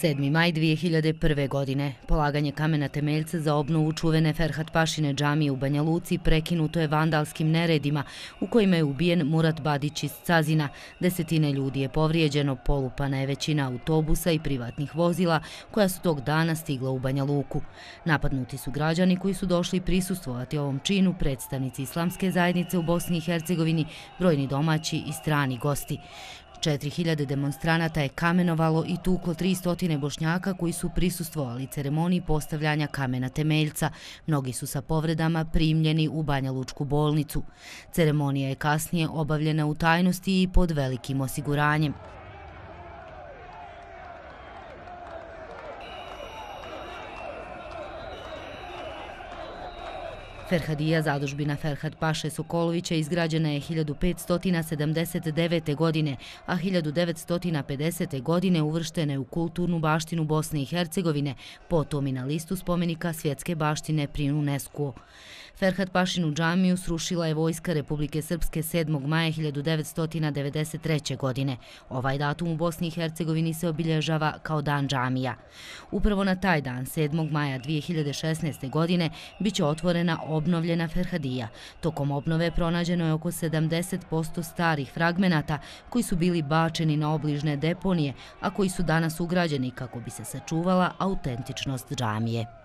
7. maj 2001. godine. Polaganje kamena temeljca za obnovu čuvene Ferhat-pašine džamije u Banja Luci prekinuto je vandalskim neredima u kojima je ubijen Murat Badić iz Cazina. Desetine ljudi je povrijeđeno, polupana je većina autobusa i privatnih vozila koja su tog dana stigla u Banja Luku. Napadnuti su građani koji su došli prisustvovati ovom činu, predstavnici islamske zajednice u Bosni i Hercegovini, brojni domaći i strani gosti. 4000 demonstranata je kamenovalo i tuklo 300 Bošnjaka koji su prisustvovali ceremoniji postavljanja kamena temeljca. Mnogi su sa povredama primljeni u Banja Lučku bolnicu. Ceremonija je kasnije obavljena u tajnosti i pod velikim osiguranjem. Ferhadija, zadužbina Ferhat-paše Sokolovića, izgrađena je 1579. godine, a 1950. godine uvrštena je u kulturnu baštinu Bosne i Hercegovine, potom i na listu spomenika svjetske baštine pri UNESCO. Ferhat-pašinu džamiju srušila je vojska Republike Srpske 7. maja 1993. godine. Ovaj datum u Bosni i Hercegovini se obilježava kao Dan džamija. Upravo na taj dan, 7. maja 2016. godine, bit će otvorena obnovljena Ferhadija. Tokom obnove pronađeno je oko 70% starih fragmenata koji su bili bačeni na obližne deponije, a koji su danas ugrađeni kako bi se sačuvala autentičnost džamije.